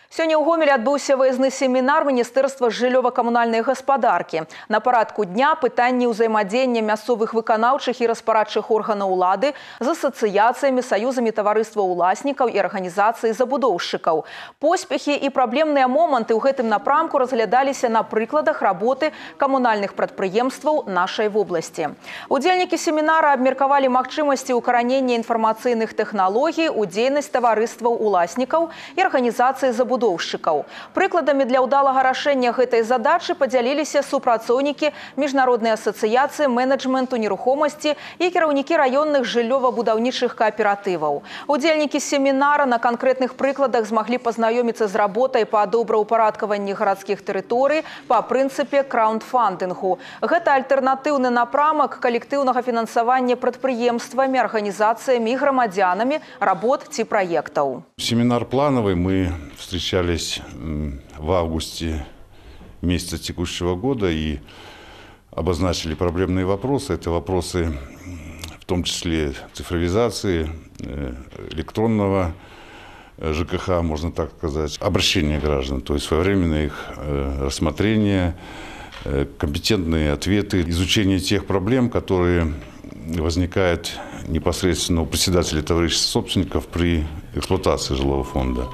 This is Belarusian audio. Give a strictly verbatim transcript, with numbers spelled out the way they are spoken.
Сёння ў Гомелі адбыўся выязны семінар Міністэрства жыллёва-камунальнай гаспадаркі. На парадку дня пытанні ўзаемадзеяння мясцовых выканаўчых і распарадчых органаў улады з асацыяцыямі, саюзамі таварыства ўласнікаў і арганізацыі забудоўшчыкаў. Поспехі і праблемныя моманты ў гэтым напрамку разглядаліся на прыкладах работы камунальных прадпрыемстваў нашай вобласці. Удзельнікі семінара абмеркавалі магчымасці ўкаранення інфармацыйных тэхналогій у дзейнасць таварыстваў уласнікаў і арганізацыі забудоўшчыкаў. Прыкладамі для ўдалага рашэння гэтай задачы падзяліліся супрацоўнікі Міжнароднай асацыяцыі менеджменту нерухомасці і кіраўнікі раённых жыллёва-будаўнічых кааператываў. Удзельнікі семінара на канкрэтных прыкладах змаглі пазнаёміцца з работай па добраўпарадкаванні гарадскіх тэрыторый па прынцыпе краундфандынгу. Гэта альтэрнатыўны напрамак калектыўнага фінансавання прадпрыемствамі, арганізацыямі і грамадзянамі работ ці праектаў. Семинар плановый. Мы встречались в августе месяца текущего года и обозначили проблемные вопросы. Это вопросы в том числе цифровизации, электронного ЖКХ, можно так сказать, обращения граждан, то есть своевременное их рассмотрение, компетентные ответы, изучение тех проблем, которые возникают непосредственно у председателей товарищества собственников при эксплуатации жилого фонда.